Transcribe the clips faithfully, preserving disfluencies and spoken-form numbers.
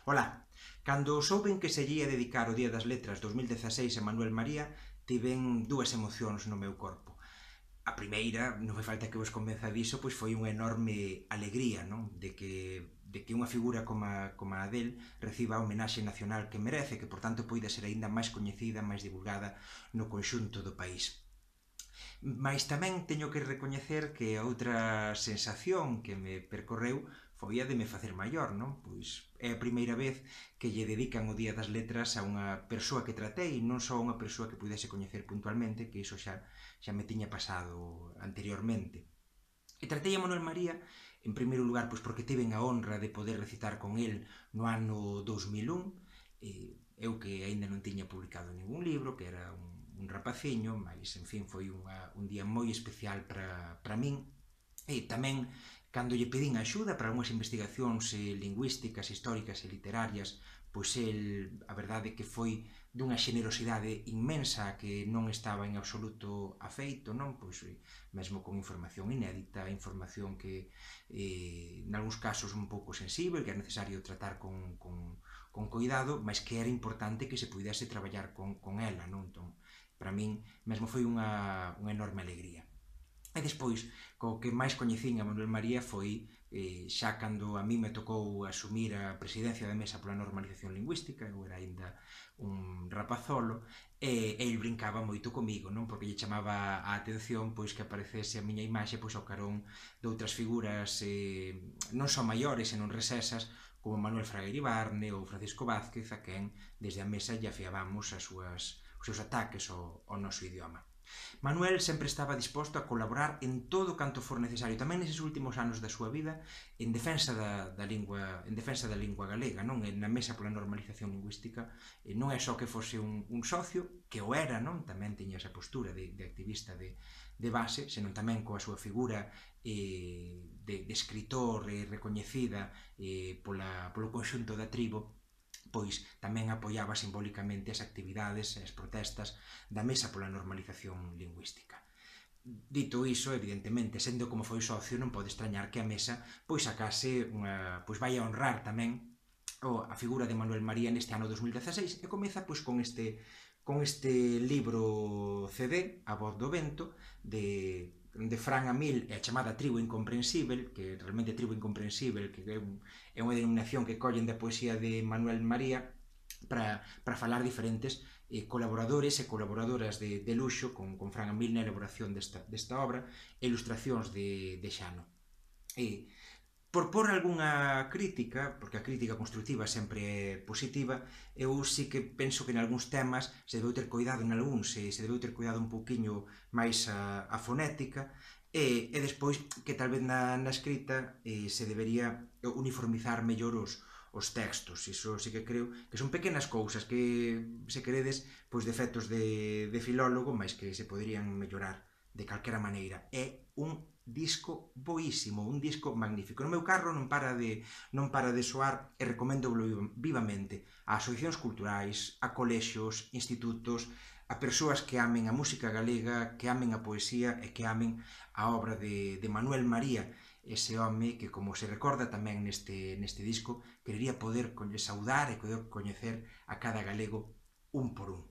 Ola, cando souben que se lle ia dedicar o Día das Letras dos mil dezaseis a Manuel María, tiven dúas emocións no meu corpo. A primeira, non fai falta que vos convenza diso, pois foi unha enorme alegría, non? De que, de que unha figura como a, como a del reciba a homenaxe nacional que merece, que por tanto poida ser aínda máis coñecida, máis divulgada no conxunto do país. Mais tamén teño que recoñecer que a outra sensación que me percorreu foi a de me facer maior, non? Pois é a primeira vez que lle dedican o Día das Letras a unha persoa que tratei, non só unha persoa que pudese coñecer puntualmente, que iso xa, xa me tiña pasado anteriormente. E tratei a Manuel María, en primeiro lugar, pois porque tiven a honra de poder recitar con el no ano dous mil un, e eu que aínda non tiña publicado ningún libro, que era un, un rapaciño, mas, en fin, foi unha, un día moi especial para, para min. E tamén, cando lle pedín axuda para algunhas investigacións eh, lingüísticas, históricas e literarias, pois el, a verdade que foi dunha xenerosidade inmensa que non estaba en absoluto afeito, non? Pois mesmo con información inédita, información que eh, en algúns casos un pouco sensible, que é necesario tratar con, con, con cuidado, mas que era importante que se pudese traballar con, con ela, non? Entón, para min mesmo foi unha, unha enorme alegría. E despois, co que máis coñecín a Manuel María foi eh, xa cando a mí me tocou asumir a presidencia da Mesa pola Normalización Lingüística, eu era aínda un rapazolo, e el brincaba moito comigo, non? Porque lle chamaba a atención pois que aparecese a miña imaxe pois ao carón de outras figuras eh, non só maiores, senón recesas, como Manuel Fraga Iribarne ou Francisco Vázquez, a quen desde a Mesa lle afiabamos as súas, os seus ataques ao, ao noso idioma. Manuel sempre estaba disposto a colaborar en todo canto for necesario, tamén neses últimos anos da súa vida, en defensa da, da lingua, en defensa da lingua galega, non? Na Mesa pola Normalización Lingüística, non é só que fose un, un socio, que o era, non? Tamén tiña esa postura de, de activista de, de base, senón tamén coa súa figura eh, de, de escritor eh, recoñecida eh, pola, polo conxunto da tribo, pois tamén apoiaba simbólicamente as actividades e as protestas da Mesa pola Normalización Lingüística. Dito iso, evidentemente, sendo como foi socio, non pode extrañar que a Mesa pois sacase unha, pois vai a honrar tamén a figura de Manuel María neste ano dos mil dezaseis e comeza pois con este con este libro C D, A Voz do Vento, de de Fran Amil e a chamada Tribo Incomprensível, que realmente Tribo Incomprensível, que é, un, é unha denominación que collen da poesía de Manuel María para, para falar diferentes eh, colaboradores e colaboradoras de, de luxo con, con Fran Amil na elaboración desta, desta obra e ilustracións de, de Xano. E por por algunha crítica, porque a crítica constructiva sempre é positiva, eu sí que penso que en algúns temas se debeu ter cuidado en algúns, se, se debeu ter cuidado un pouquiño máis a, a fonética, e, e despois que tal vez na, na escrita eh, se debería uniformizar mellor os, os textos. Iso sí que creo que son pequenas cousas que, se queredes, pois defectos de, de filólogo, mas que se poderían mellorar de calquera maneira. É un disco boísimo, un disco magnífico. No meu carro non para de non para de soar e recomendo vivamente a asociacións culturais, a colexios, institutos, a persoas que amen a música galega, que amen a poesía e que amen a obra de, de Manuel María, ese home que, como se recorda tamén neste, neste disco, querería poder saudar e poder coñecer a cada galego un por un.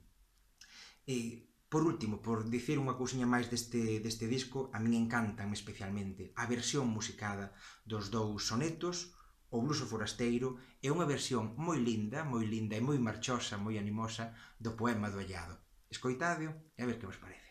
E por último, por dicir unha cousiña máis deste, deste disco, a min encantan especialmente a versión musicada dos dous sonetos, O bluso forasteiro, é unha versión moi linda, moi linda e moi marchosa, moi animosa, do poema do Allado. Escoitádeo e a ver que vos parece.